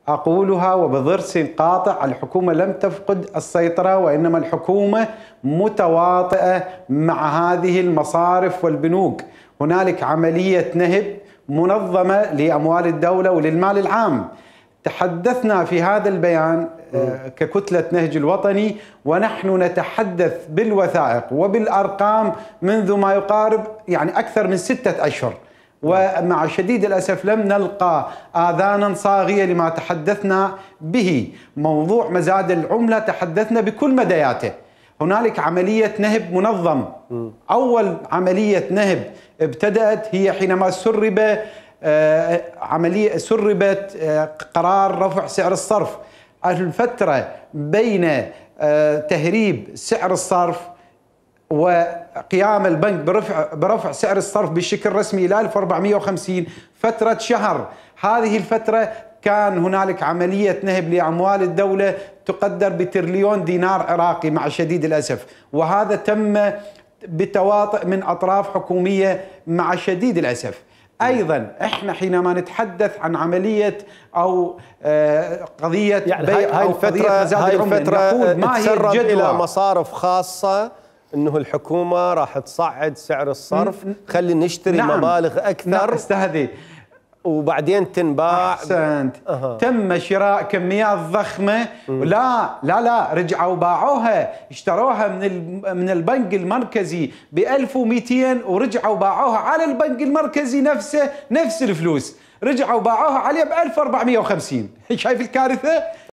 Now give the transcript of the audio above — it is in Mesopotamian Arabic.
أقولها وبضرس قاطع: الحكومة لم تفقد السيطرة، وإنما الحكومة متواطئة مع هذه المصارف والبنوك. هنالك عملية نهب منظمة لأموال الدولة وللمال العام. تحدثنا في هذا البيان ككتلة نهج الوطني، ونحن نتحدث بالوثائق وبالأرقام منذ ما يقارب أكثر من 6 أشهر، ومع شديد الأسف لم نلقى آذانا صاغية لما تحدثنا به. موضوع مزاد العملة تحدثنا بكل مدياته. هنالك عملية نهب منظم. أول عملية نهب ابتدأت هي حينما سربت قرار رفع سعر الصرف. الفترة بين تهريب سعر الصرف وقيام البنك برفع سعر الصرف بشكل رسمي إلى 1450 فترة شهر. هذه الفترة كان هنالك عملية نهب لأموال الدولة تقدر بتريليون دينار عراقي مع شديد الأسف، وهذا تم بتواطؤ من أطراف حكومية مع شديد الأسف. أيضا إحنا حينما نتحدث عن عملية أو قضية بيع أو قضية مزاد العملة، نقول ما هي الجدوى إلى مصارف خاصة أنه الحكومة راح تصعد سعر الصرف، خلي نشتري مبالغ أكثر. نعم استهدي، وبعدين تنباع. أحسنت. تم شراء كميات ضخمة. لا رجعوا باعوها، اشتروها من البنك المركزي ب 1200 ورجعوا باعوها على البنك المركزي نفسه، نفس الفلوس رجعوا باعوها عليه ب 1450. شايف الكارثة؟